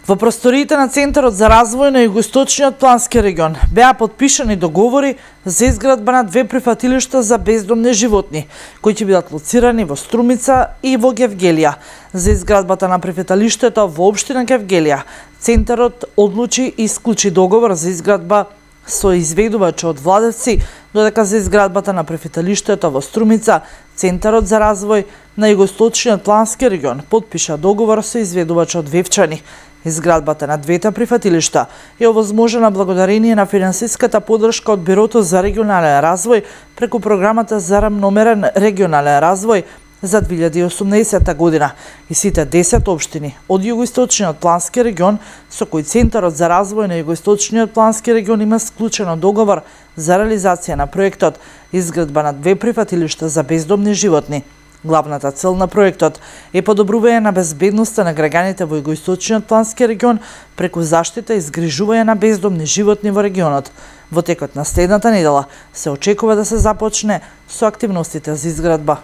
Во просториите на Центарот за развој на Југоисточниот плански регион беа подпишани договори за изградба на две прифатилишта за бездомни животни, кои ќе бидат лоцирани во Струмица и во Гевгелија. За изградбата на прифатилиштето во општина Гевгелија, Центарот одлучи и склучи договор за изградба со изведувач од Владевци, додека за изградбата на прифатилиштето во Струмица, Центарот за развој на Југоисточниот плански регион подпиша договор со изведувач од Вевчани. Изградбата на двете прифатилишта е овозможена благодарение на финансиската поддршка од Бирото за регионален развој преку програмата за рамномерен регионален развој за 2018 година и сите 10 општини од Југоисточниот плански регион со кои Центарот за развој на Југоисточниот плански регион има склучено договор за реализација на проектот изградба на две прифатилишта за бездомни животни. Главната цел на проектот е подобрување на безбедноста на граѓаните во Југоисточниот плански регион преку заштита и згрижување на бездомни животни во регионот. Во текот на следната недела се очекува да се започне со активностите за изградба.